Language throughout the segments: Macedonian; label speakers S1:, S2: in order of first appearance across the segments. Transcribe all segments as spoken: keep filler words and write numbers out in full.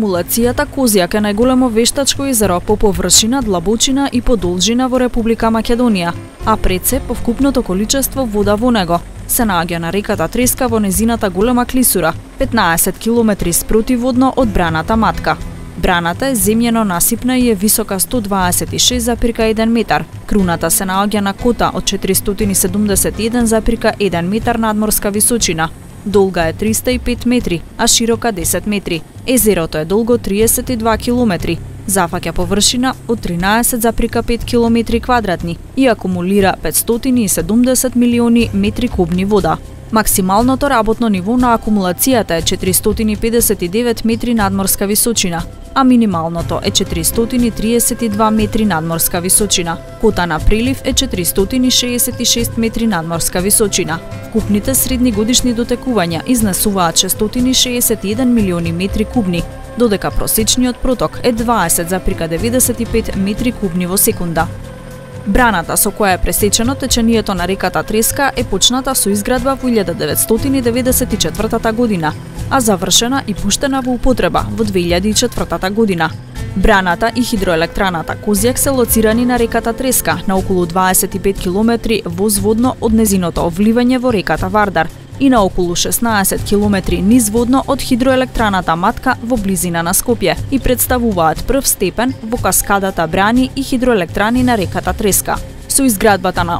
S1: акумулацијата Козјак е најголемо вештачко езеро по површина, длабочина и по должина во Република Македонија, а пред се по вкупното количество вода во него. Се наоѓа на реката Треска во незината голема клисура, петнаесет километри спротиводно од браната Матка. Браната е земјено-насипна и е висока сто дваесет и шест запирка еден метар. Круната се наоѓа на кота од четиристотини и седумдесет и еден запирка еден метар надморска височина. Долга е триста и пет метри, а широка десет метри. Езерото е долго триесет и два километри. Зафаќа површина од тринаесет запирка пет километри квадратни и акумулира петстотини и седумдесет милиони метри кубни вода. Максималното работно ниво на акумулацијата е четиристотини и педесет и девет метри надморска височина, а минималното е четиристотини и триесет и два метри надморска височина. Кота на прилив е четиристотини и шеесет и шест метри надморска височина. Вкупните средни годишни дотекувања изнесуваат шестстотини и шеесет и еден милиони метри кубни, додека просечниот проток е дваесет запирка деветдесет и пет метри кубни во секунда. Браната со која е пресечено течението на реката Треска е почната со изградба во илјада деветстотини деветдесет и четвртата година, а завршена и пуштена во употреба во две илјади и четвртата година. Браната и хидроелектраната Козјак се лоцирани на реката Треска, на околу дваесет и пет километри возводно од незиното вливање во реката Вардар и на околу шеснаесет километри низводно од хидроелектраната Матка во близина на Скопје и представуваат прв степен во каскадата брани и хидроелектрани на реката Треска. Со изградбата на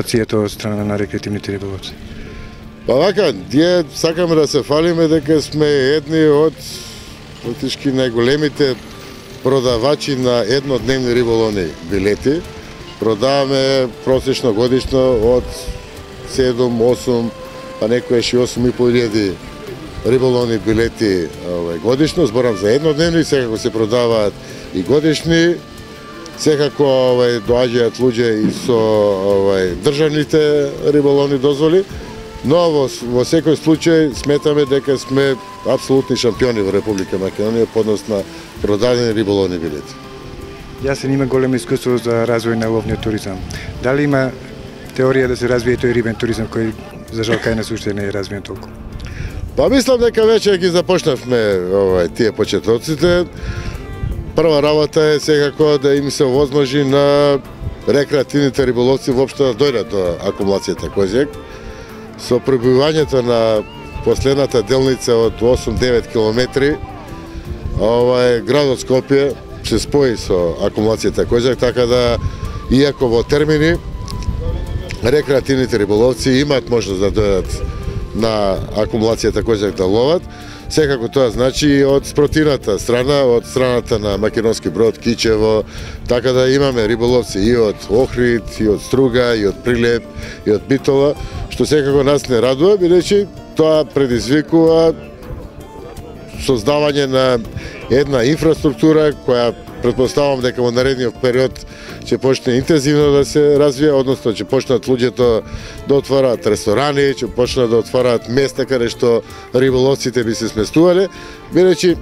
S2: стимулацијата од страна на рекреативните риболовци?
S3: Па вака, ние сакаме да се фалиме дека сме едни од практички најголемите продавачи на еднодневни риболовни билети. Продаваме просечно годишно од седум, осум, па некојаш и осум и по илјади риболовни билети овај, годишно. Зборам за еднодневни, секако се продаваат и годишни. Секако овај, доаѓаат луѓе и со овај, државните риболовни дозволи. Но во, во секој случај сметаме дека сме апсолутни шампиони во Република Македонија по однос на продадени риболовни билети.
S2: Јасен има големо искуство за развој на ловниот туризам. Дали има теорија да се развие тој рибен туризам кој за жал кај нас уште не е развиен толку?
S3: Па мислам дека веќе ги започнавме овај, тие почетоците. Прва работа е секако да им се овозможи на рекреативните риболовци воопшто да дојдат до акумулацијата Козјак. Со прибивањето на последната делница од осум-девет километри, овај, градот Скопје се спои со акумулацијата Козјак, така да, иако во термини, рекреативните риболовци имаат можност да дојдат на акумулацијата Козјак да ловат, секако тоа значи и од спротивната страна, од страната на Македонски Брод, Кичево, така да имаме риболовци и од Охрид, и од Струга, и од Прилеп, и од Битола, што секако нас не радува, бидејќи тоа предизвикува создавање на една инфраструктура која претпоставам дека во наредниот период ќе почне интензивно да се развија, односно ќе почнат луѓето да отвораат ресторани, ќе почнат да отвораат места каде што риболовците би се сместувале, бидејќи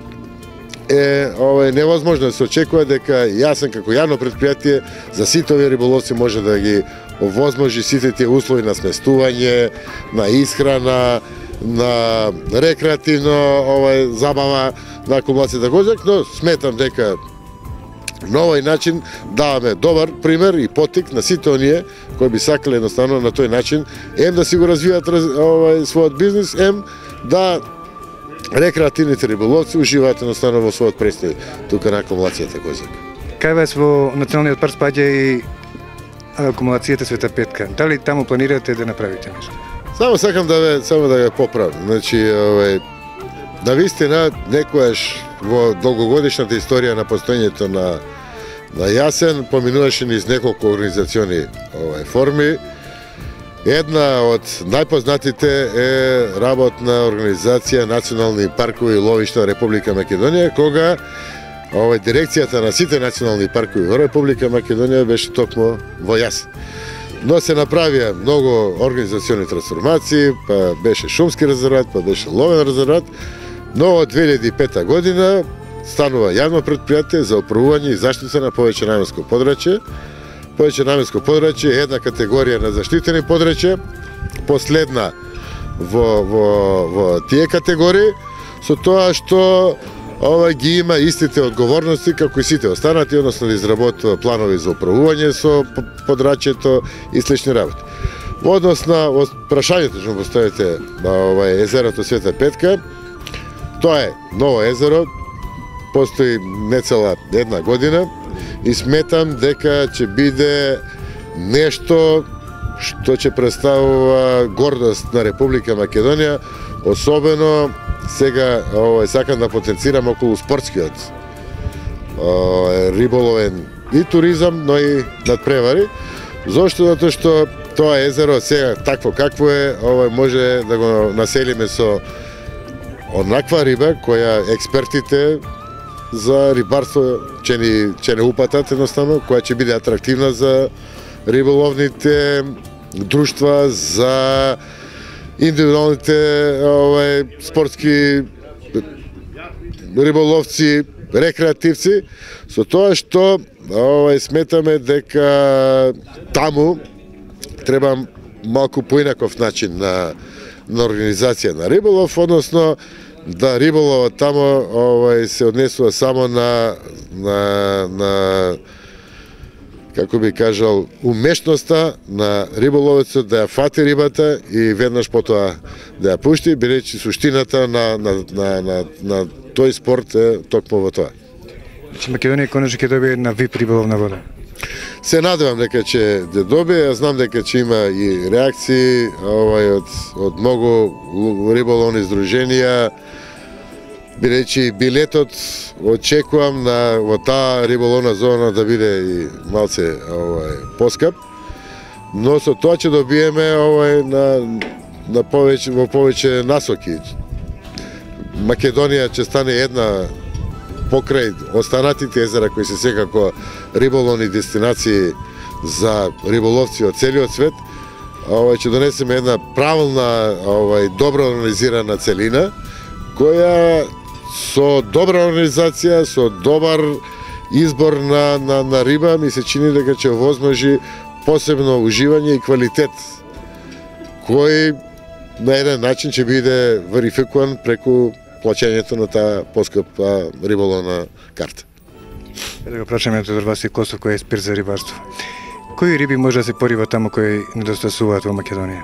S3: е овој невозможно да се очекува дека Јасен како јавно предпријатие за сите овие риболовци може да ги овозможи сите тие услови на сместување, на исхрана, на рекреативно овој забава на акумулацијата Козјак, но сметам дека на овој начин даваме добар пример и потик на сите оние кои би сакале едноставно на тој начин ем да си го развијат овој својот бизнис, ем да рекреативните риболовци уживаат едноставно во својот престој тука на акумулацијата Козјак.
S2: Кај вас во националниот парк спаѓа и акумулацијата Света Петка. Дали таму планирате да направите нешто?
S3: Само сакам да ве само да ве поправам. Значи, овој на вистина некојаш во долгогодишната историја на постоењето на на Јасен поминуваше низ неколку организациони овај форми. Една од најпознатите е работна организација Национални паркови и ловишта Република Македонија, кога овој дирекцијата на сите национални паркови во Република Македонија беше токму во Јасен. Но се направија многу организациони трансформации, па беше шумски резерват, па беше ловен резерват, но од две илјади и пета година станува јавно предпријатие за управување и заштита на повеќе наменско подрачје. Повеќе наменско подрачје е една категорија на заштитени подрачја, последна во, во, во тие категории, со тоа што ова ги има истите одговорности како и сите останати, односно да изработува планови за управување со подрачјето и слични работи. Во однос на прашањето што поставите на ова езерото Света Петка, тоа е ново езеро, постои нецела една година и сметам дека ќе биде нешто што ќе представува гордост на Република Македонија, особено сега овој сакам да потенцирам околу спортскиот овој, риболовен и туризам, но и надпревари. Зошто? Затоа што тоа езеро сега такво какво е, овој може да го населиме со онаква риба која експертите за рибарство ќе ни ќе не упатат едноставно, која ќе биде атрактивна за риболовните друштва, за индивидуалните овај спортски риболовци, рекреативци, со тоа што овај сметаме дека таму треба малку поинаков начин на на организација на риболов, односно да риболовот тамо овај се однесува само на на на како би кажал умешноста на риболовецот да ја фати рибата и веднаш потоа да ја пушти, бидејќи суштината на на на на, на тој спорт е токму во тоа.
S2: Значи Македонија конечно ќе добие една вип риболовна вода.
S3: Се надевам дека ќе да добие, знам дека ќе има и реакции овај од од многу риболовни здруженија. Бидејќи билетот очекувам на во таа риболовна зона да биде и малце овај поскап, но со тоа ќе добиеме овај на на повеќе во повеќе насоки. Македонија ќе стане една покрај останатите езера кои се секако риболовни дестинации за риболовци од целиот свет, овај ќе донесеме една правилна, овај добро организирана целина која со добра организација, со добар избор на, на, на риба, ми се чини дека ќе возможи посебно уживање и квалитет, кој на еден начин ќе биде верификуван преку плаќањето на таа поскапа риболовна карта.
S2: Да го прашаме од вас и Косов кој е експерт за рибарство. Кои риби може да се пориват таму кои недостасуваат во Македонија?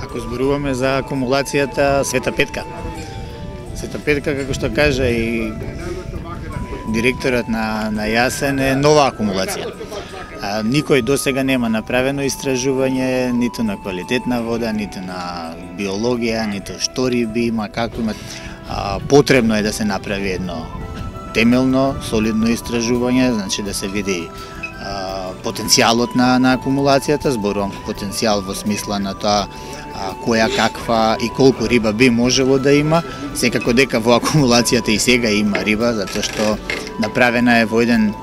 S4: Ако зборуваме за акумулацијата Света Петка. Света Петка, како што кажа и директорот на, на Јасен, е нова акумулација. А, никој досега нема направено истражување ниту на квалитетна вода, ниту на биологија, ниту што риби има, како има. А, потребно е да се направи едно темелно, солидно истражување, значи да се види а, потенцијалот на, на акумулацијата, зборувам потенцијал во смисла на тоа а, која, каква и колку риба би можело да има. Секако дека во акумулацијата и сега има риба, затоа што направена е во еден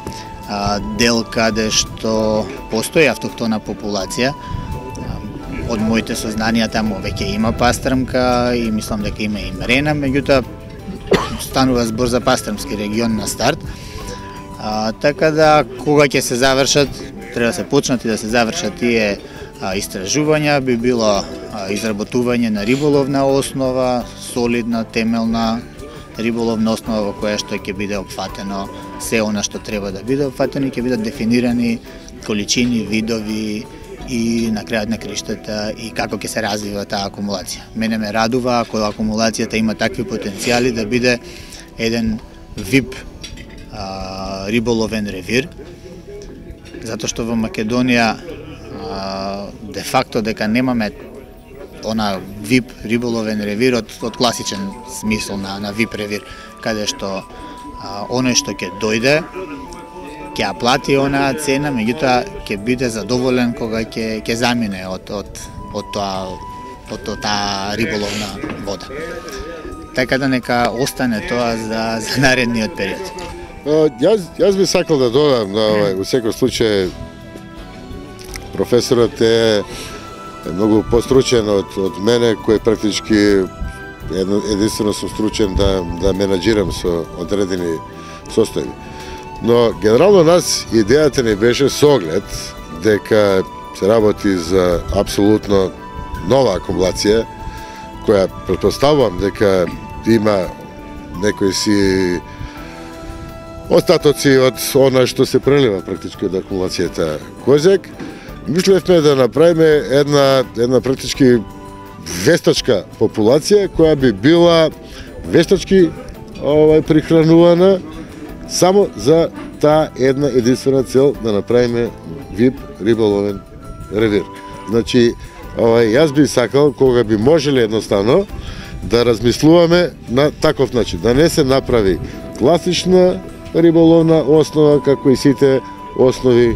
S4: а, дел каде што постои автохтона популација. Од моите сознанија таму веќе има пастрмка и мислам дека има и мрена, меѓутоа станува збор за пастрмски регион на старт. А, така да кога ќе се завршат, треба да се почнат и да се завршат тие а, истражувања, би било а, изработување на риболовна основа, солидна, темелна риболовна основа во која што ќе биде опфатено се она што треба да биде опфатено и ќе бидат дефинирани количини, видови и на крајот на криштата и како ќе се развива таа акумулација. Мене ме радува ако акумулацијата има такви потенцијали да биде еден вип а, риболовен ревир, затоа што во Македонија а, де факто дека немаме она вип риболовен ревир од, од класичен смисол на, на вип ревир, каде што а, оној што ќе дојде ќе ја плати онаа цена, меѓутоа ќе биде задоволен кога ќе ќе замине од од од тоа од таа риболовна вода. Така да нека остане тоа за за наредниот период.
S3: Јас јас би сакал да додам на овај, во секој случај професорот е многу постручен од од мене, кој практички единствено сум стручен да да менаџирам со одредени состојби. Но генерално нас идејата ни беше со оглед дека се работи за апсолутно нова акумулација, која претпоставувам дека има некои си остатоци од она што се прелива практички од акумулацијата Козјак. Мислевме да направиме една една практички вештачка популација која би била вештачки овај прихранувана само за таа една единствена цел да направиме вип риболовен ревир. Значи, овај, јас би сакал кога би можеле едноставно да размислуваме на таков начин, да не се направи класична риболовна основа како и сите основи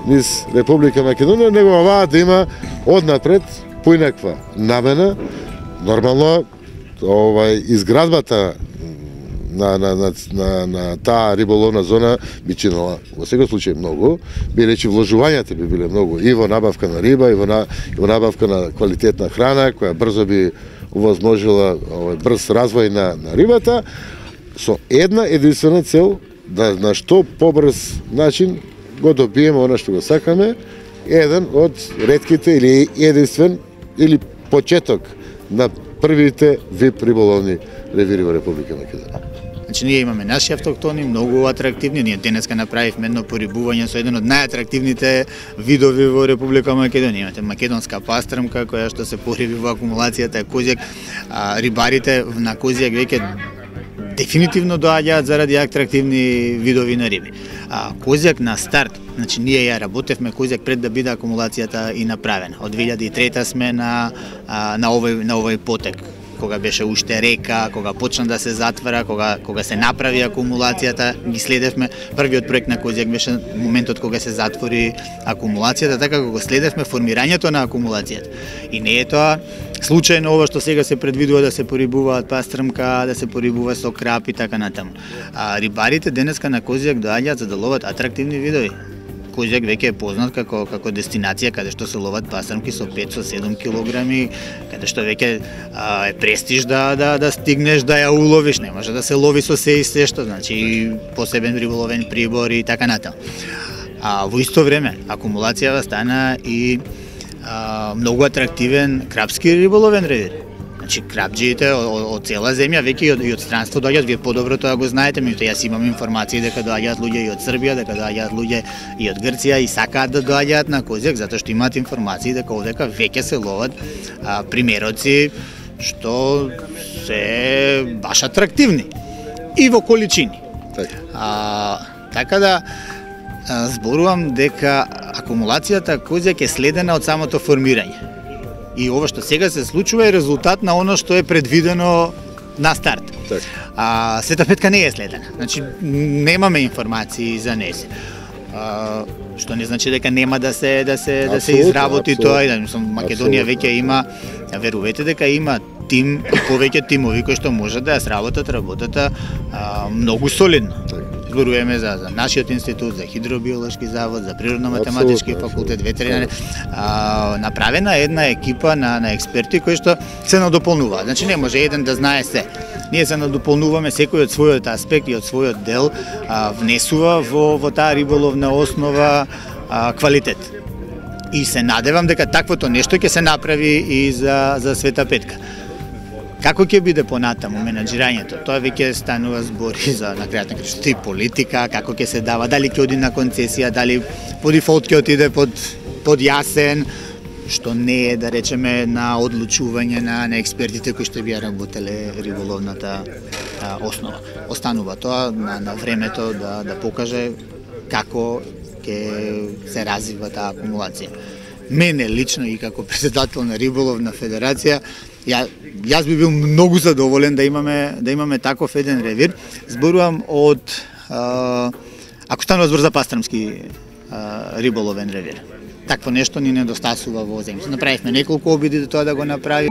S3: низ Република Македонија, него оваа да има однапред поинаква намена. Нормално овај изградбата на на на на, на таа риболовна зона би чинала во секој случај многу, би речи вложувањата би биле многу и во набавка на риба, и во, на, и во набавка на квалитетна храна која брзо би овозможила овој брз развој на, на рибата, со една единствена цел да на што побрз начин го добиеме она што го сакаме, еден од ретките или единствен или почеток на првите вип риболовни ревири во Република Македонија.
S4: Значи, ние имаме наши автохтони, многу атрактивни. Ние денеска направивме едно порибување со еден од најатрактивните видови во Република Македонија. Имате македонска пастрмка, која што се пориби во акумулацијата Козјак. А, рибарите на Козјак веќе дефинитивно доаѓаат заради атрактивни видови на риби. А Козјак на старт, значи ние ја работевме Козјак пред да биде акумулацијата и направена. Од две илјади и трета сме на на овој на овој потек, кога беше уште река, кога почна да се затвара, кога кога се направи акумулацијата, ги следевме. Првиот проект на Козјак беше моментот кога се затвори акумулацијата, така кога следевме формирањето на акумулацијата. И не е тоа случајно ова што сега се предвидува да се порибуваат пастрмка, да се порибува со крап и така натаму. А рибарите денеска на Козјак доаѓаат за да ловат атрактивни видови. Козјак веќе е познат како како дестинација каде што се ловат пастрмки со пет со седум килограми, каде што веќе е престиж да да да стигнеш да ја уловиш, не може да се лови со се и се што, значи посебен риболовен прибор и така натаму. А во исто време акумулацијава стана и а, многу атрактивен крапски риболовен ревир. Значи крапџиите од цела земја, веќе и од, и од странство доаѓаат, вие подобро тоа го знаете, меѓутоа јас имам информации дека доаѓаат луѓе и од Србија, дека доаѓаат луѓе и од Грција и сакаат да доаѓаат на Козјак затоа што имаат информации дека овдека веќе се ловат а, примероци што се баш атрактивни и во количини.
S3: Така.
S4: А, така да а, зборувам дека акумулацијата Козјак е следена од самото формирање. И ова што сега се случува е резултат на оно што е предвидено на старт.
S3: Так.
S4: А Света Петка не е следена. Значи немаме информации за неја. А, што не значи дека нема да се да се да се изработи тоа и да мислам Македонија веќе има, верувате дека има тим и повеќе тимови кои што може да ја сработат работата а, многу солидно. Зборуваме за, за нашиот институт, за хидробиолошки завод, за природно-математички факултет, ветеринар. А, направена е една екипа на, на експерти кои што се надополнуваат. Значи не може еден да знае се. Ние се надополнуваме, секој од својот аспект и од својот дел а, внесува во, во таа риболовна основа а, квалитет. И се надевам дека таквото нешто ќе се направи и за, за Света Петка. Како ќе биде понатаму менаџирањето? Тоа веќе станува збори за на крајот на крајот и политика, како ќе се дава, дали ќе оди на концесија, дали по дефолт ќе отиде под под јасен, што не е да речеме на одлучување на на експертите кои што би ја работеле риболовната а, основа. Останува тоа на, на времето да да покаже како ќе се развива таа акумулација. Мене лично и како председател на Риболовна федерација, ја, јас би бил многу задоволен да имаме да имаме таков еден ревир. Зборувам од а, ако станува збор за пастрмски а, риболовен ревир. Такво нешто ни недостасува во земјата. Направивме неколку обиди до тоа да го направи.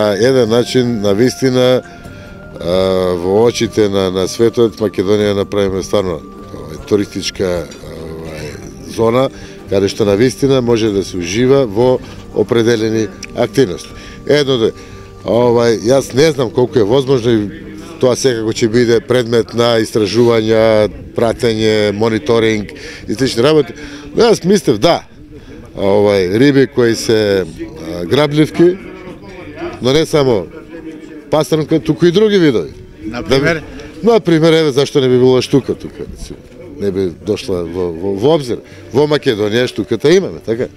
S3: на еден начин, на вистина, во очите на, на светот, Македонија направиме стварно туристичка зона, каде што на вистина може да се ужива во определени активности. Едно да, овај, јас не знам колку е возможно и тоа секако ќе биде предмет на истражувања, пратење, мониторинг и слични работи. Но јас мислев да, овај, риби кои се а, грабливки, но не само пастрнка, туку и други видови.
S4: Например?
S3: Да, например, еве, зашто не би било штука тука, не би дошла во, во, во обзир. Во Македонија штуката имаме, така?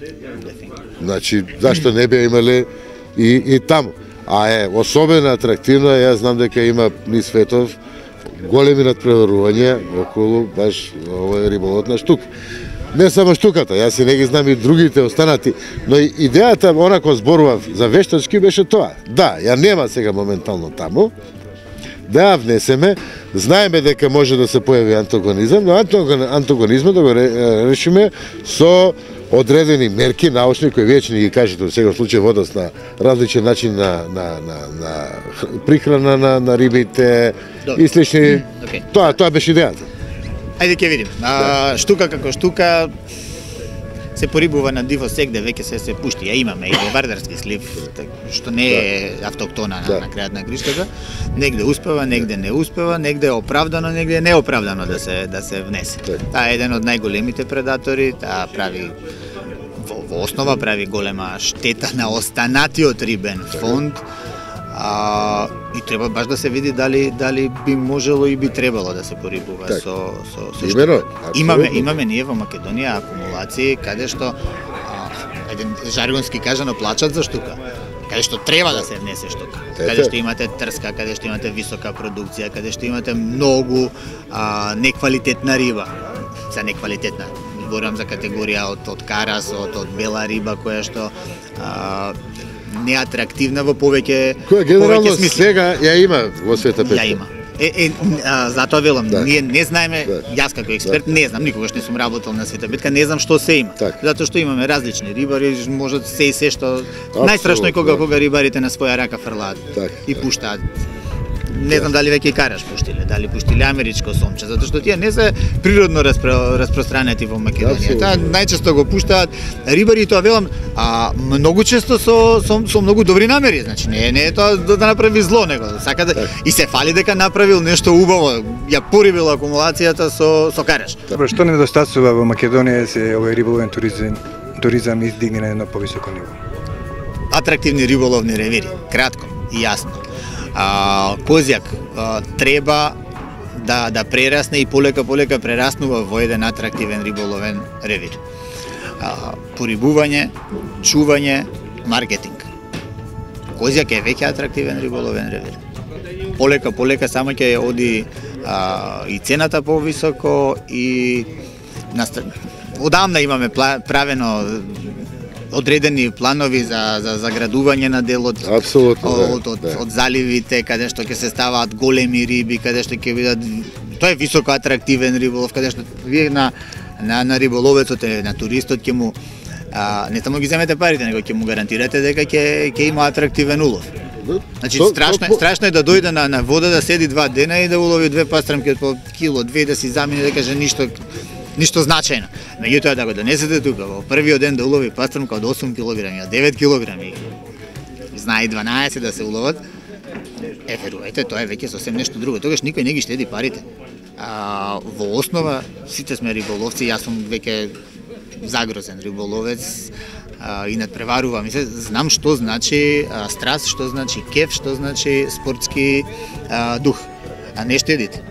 S3: Значи, зашто не би имале и, и таму. А е, особено атрактивно, јас знам дека има низ светов големи надпреварувања околу баш овој риболовот на штука. Не само штуката, јас и не ги знам и другите останати, но и идејата, онако зборував за вештачки, беше тоа. Да, ја нема сега моментално таму, да ја внесеме, знаеме дека може да се појави антагонизам, но антагонизмот да го решиме со одредени мерки научни кои веќе ни ги кажете во сега случај водост на различен начин на на на на прихрана на на рибите и слични.
S4: Okay.
S3: Тоа тоа беше идејата.
S4: Ајде ќе видим. А, штука како штука се порибува на диво сегде, веќе се се пушти. Ја имаме и во Вардарски слив, што не е автоктона на, на крајот на гриштата. Негде успева, негде не успева, негде е оправдано, негде е неоправдано да се да се внесе. Таа е еден од најголемите предатори, таа прави во, во основа прави голема штета на останатиот рибен фонд. А, и треба баш да се види дали дали би можело и би требало да се порибува так. со со со
S3: Имено,
S4: имаме имаме ние во Македонија акумулации каде што а, еден жаргонски кажано плачат за штука. Каде што треба да се внесе штука. Каде што имате трска, каде што имате висока продукција, каде што имате многу а, неквалитетна риба. За неквалитетна зборам за категорија од од карас, од, од бела риба која што а, неатрактивна во повеќе
S3: која генерално сега ја има во Света Петка.
S4: Ја има. Е, е а, затоа велам,
S3: да.
S4: ние не знаеме,
S3: да.
S4: јас како експерт
S3: да.
S4: не знам, никогаш не сум работел на Света Петка, не знам што се има.
S3: Так.
S4: Затоа што имаме различни рибари, можат се и се што најстрашно е кога да. кога рибарите на своја рака фрлаат и пуштаат. Не знам дали веќе и караш пуштиле, дали пуштиле америчко сомче, затоа што тие не се природно распро, распространети во Македонија. Таа најчесто го пуштаат рибари, тоа велам, а многу често со со, со многу добри намери, значи не не е тоа да, да направи зло, него сака да и се фали дека направил нешто убаво, ја порибил акумулацијата со со караш.
S2: Добро, што недостасува во Македонија се овој риболовен туризам, туризам издигне на едно повисоко ниво?
S4: Атрактивни риболовни ревири, кратко и јасно. А, Козјак а, треба да да прерасне и полека полека прераснува во еден атрактивен риболовен ревир. А, порибување, чување, маркетинг. Козјак е веќе атрактивен риболовен ревир. Полека полека само ќе оди а, и цената повисоко и наста... одамна имаме правено одредени планови за за заградување на делот.
S3: Апсолутно,
S4: од,
S3: да,
S4: од,
S3: да.
S4: од заливите каде што ќе се ставаат големи риби, каде што ќе бидат тоа е високо атрактивен риболов, каде што вие на на на риболовецот, на туристот ќе му а, не само ги земете парите, него ќе му гарантирате дека ќе ќе има атрактивен улов. Значи
S3: то,
S4: страшно
S3: то,
S4: е страшно е да дојде на на вода да седи два дена и да улови две пастрамки од по кило, две да си замине да каже ништо ништо значајно. Меѓутоа да го донесете тука во првиот ден да улови пастрамка од осум килограми, од девет килограми, знае дванаесет да се уловат, е верувајте, тоа е веќе сосем нешто друго. Тогаш никој не ги штеди парите. А, во основа сите сме риболовци, јас сум веќе загрозен риболовец а, и надпреварувам и се знам што значи а, страст, што значи кеф, што значи спортски а, дух. А не штедите.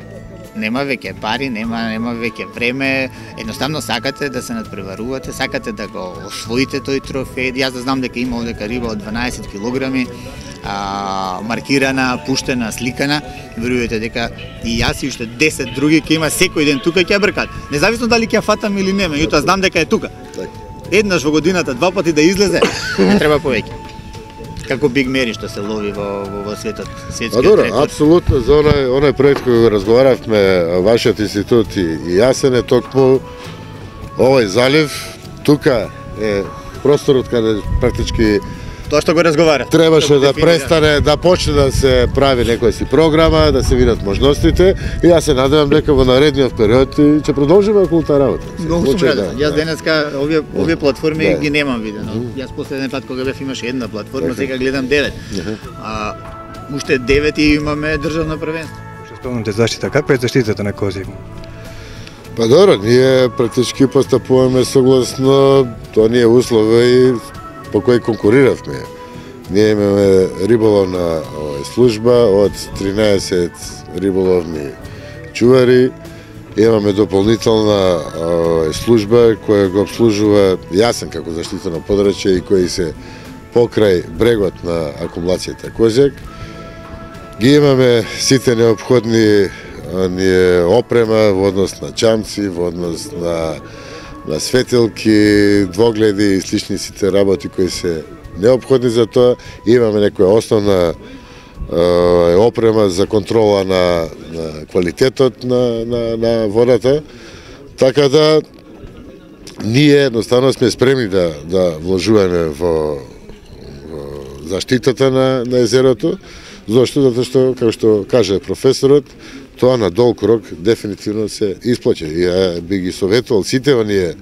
S4: Нема веќе пари, нема нема веќе време, едноставно сакате да се надпреварувате, сакате да го освоите тој трофеј. Јас да знам дека има овдека риба од дванаесет килограми, а, маркирана, пуштена, сликана, верувате дека и јас и уште десет други ќе има секој ден тука ќе ја бркат. Независно дали ќе ја фатам или не, меѓутоа знам дека е тука. Еднаш во годината, два пати да излезе, не треба повеќе. Како Биг Мери што се лови во во, во светот, светскиот
S3: рекорд.
S4: рекорд.
S3: Апсолутно, за онај онај проект кој го разговаравме вашиот институт и, и јасен е токму овој залив, тука е просторот каде практички
S4: Тоа што го разговара.
S3: Требаше да престане, да почне да се прави некоја си програма, да се видат можностите и јас се надевам дека во наредниот период ќе продолжиме околу таа работа.
S4: Многу сум радостен. Јас денеска овие овие платформи
S3: да.
S4: ги немам видено. Јас последен пат кога бев имаше една платформа, сега гледам девет. А уште девет и имаме државно првенство.
S2: Што спомнате заштита, каква е заштитата на кози?
S3: Па добро, ние практички постапуваме согласно оние услови по кои конкуриравме. Ние имаме риболовна служба од тринаесет риболовни чувари, имаме дополнителна служба која го обслужува Јасен како заштитено подрачје и кои се покрај брегот на акумулацијата Козјак. Ги имаме сите неопходни ние опрема во однос на чамци, во однос на на светилки, двогледи и слични сите работи кои се неопходни за тоа. Имаме некоја основна е, опрема за контрола на, на квалитетот на, на, на водата. Така да ние едноставно сме спремни да, да вложуваме во, во заштитата на, на езерото. Зошто? Затоа што, како што каже професорот, тоа на долг рок дефинитивно се исплаќа. И ја би ги советувал сите оние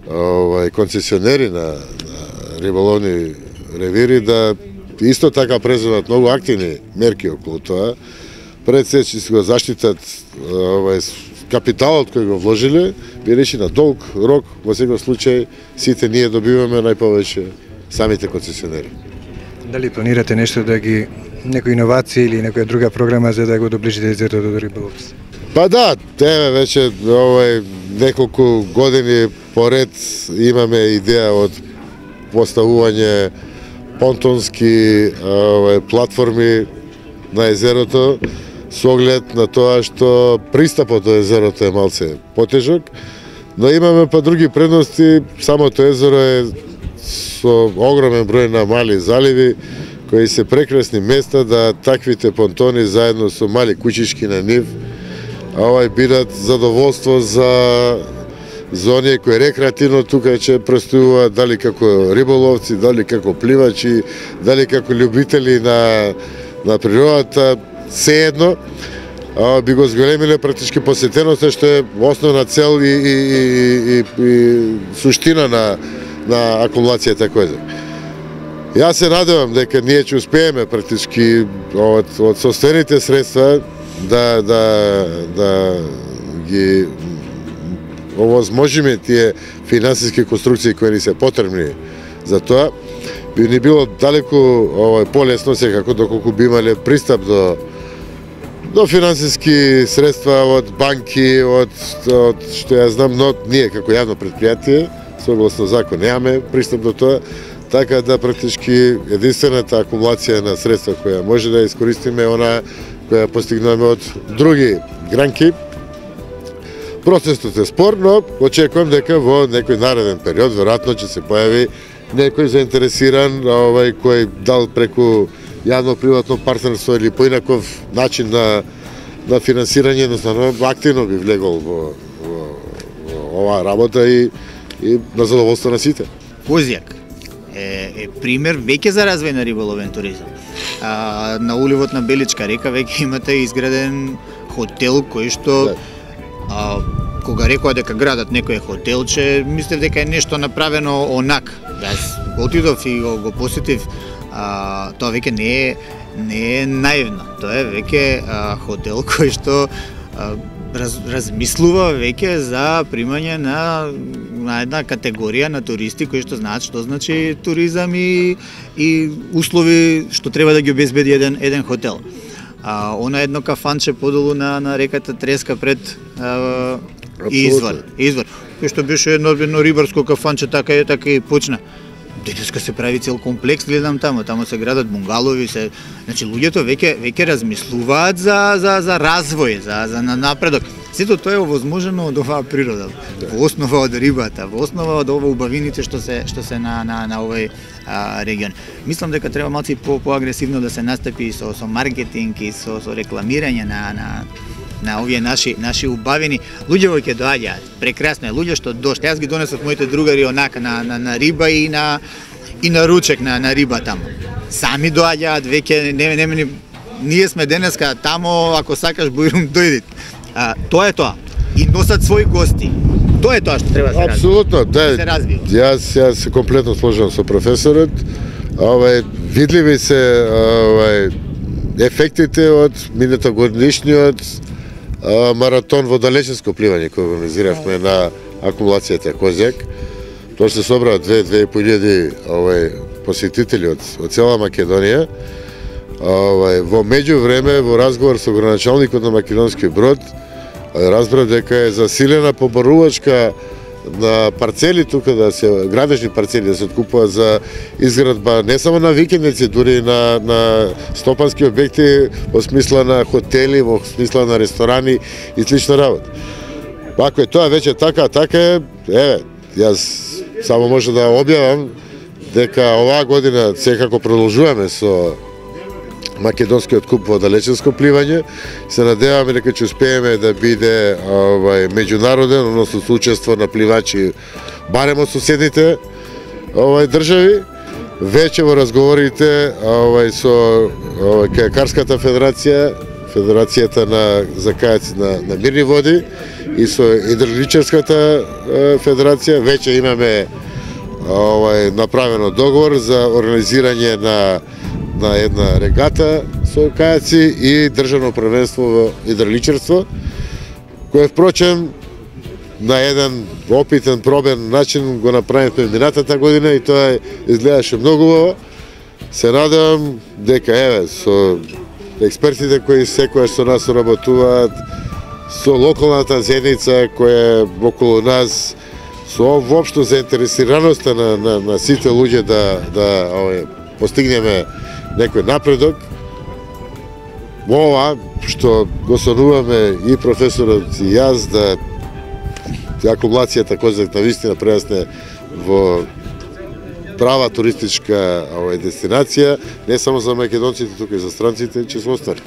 S3: овај концесионери на, на риболовни ревири да исто така преземат многу активни мерки околу тоа. Пред се че се го заштитат овај капиталот кој го вложиле, бидејќи на долг рок во секој случај сите ние добиваме најповеќе самите концесионери.
S2: Дали планирате нешто да ги некои иновации или некоја друга програма за да го доближите езерото до риболовци?
S3: Па да, еве веќе овај неколку години поред имаме идеја од поставување понтонски овај платформи на езерото со оглед на тоа што пристапот до езерото е малце потежок, но имаме па други предности. Самото езеро е со огромен број на мали заливи кои се прекрасни места да таквите понтони заедно со мали куќички на нив овај бидат задоволство за за оние кои рекреативно тука ќе престојуваат, дали како риболовци, дали како пливачи, дали како љубители на на природата, сеедно би го зголемиле практички посетеноста, што е основна цел и, и, и, и, и суштина на на акумулацијата Козјак. Јас се надевам дека ние ќе успееме практички од, од состојаните средства да, да, да ги овозможиме тие финансиски конструкции кои ни се потребни за тоа. Би ни било далеку овој полесно секако доколку би имале пристап до до финансиски средства од банки, од, од што ја знам, но ние како јавно предпријатие согласно закон немаме пристап до тоа, така да практички единствената акумулација на средства која може да искористиме она која постигнуваме од други гранки. Процесот е спор, но очекувам дека во некој нареден период веројатно ќе се појави некој заинтересиран, овај кој дал преку јавно-приватно партнерство или поинаков начин на на финансирање, едноставно активно би влегол во, во, во оваа работа и и на задоволство на сите.
S4: Козјак е, е пример веќе за развој на риболовен туризам. А, на уливот на Беличка река веќе имате изграден хотел кој што а, кога рекоа дека градат некој хотелче, мислев дека е нешто направено онак. Јас го отидов и го, го посетив, а, тоа веќе не е не е наивно. Тоа е веќе а, хотел кој што а, Раз, размислува веќе за примање на, на една категорија на туристи кои што знаат што значи туризам и, и услови што треба да ги обезбеди еден, еден хотел. А, она едно кафанче подолу на, на реката Треска пред а, Извор. Извор. Кој што беше едно, едно рибарско кафанче, така и така и почна. Денеска се прави цел комплекс, гледам таму, таму се градат bunгалови, се, значи луѓето веќе веќе размислуваат за за за развој, за за напредок. Сето тоа е овозможено од оваа природа. Во основа од рибата, во основа од ова убавините што се што се на на на овој а, регион. Мислам дека треба малку по поагресивно да се настапи со со маркетинг и со со рекламирање на на на овие наши наши убавини. Луѓе ќе доаѓаат. Прекрасно е, луѓе што дошли. Јас ги донесов моите другари онака на на, на риба и на и на ручек на, на риба таму. Сами доаѓаат веќе, не, не, не, ние сме денеска тамо, ако сакаш Бојрум дојдит. А, тоа е тоа. И носат своји гости. Тоа е тоа што треба да се разви.
S3: Апсолутно, да.
S4: се разви.
S3: Јас јас се комплетно сложувам со професорот. Овај видливи се овај ефектите од минатогодишниот маратон во далечинско пливање кој организиравме на акумулацијата Козјак. Тоа се собра две две и по илјади овај посетители од од цела Македонија. Овај во меѓувреме во разговор со граначалникот на македонскиот брод разбрав дека е засилена побарувачка на парцели тука да се градежни парцели да се откупуваат за изградба не само на викендици, дури на на стопански објекти во смисла на хотели, во смисла на ресторани и слична работа. Ако е тоа веќе така, така е, еве, јас само може да објавам дека оваа година секако продолжуваме со македонскиот куп во далечинско пливање. Се надеваме дека ќе успееме да биде овај меѓународен, односно со учество на пливачи барем од соседните овај држави. Веќе во разговорите овај со овај Кајакарската федерација, Федерацијата на за кајаци на, на мирни води и со Идроличарската федерација веќе имаме овај направено договор за организирање на на една регата со кајаци и државно првенство во идроличарство, кое впрочем на еден опитен пробен начин го направивме минатата година и тоа изгледаше многу убаво. Се надевам дека еве со експертите кои секојаш со нас соработуваат, со локалната заедница која е околу нас, со воопшто заинтересираноста на, на, на сите луѓе да, да ове, постигнеме некој напредок. Ова што го сонуваме и професорот и јас да акумулацијата Козјак навистина прерасне во права туристичка овај дестинација, не само за македонците, туку и за странците, ќе се остане.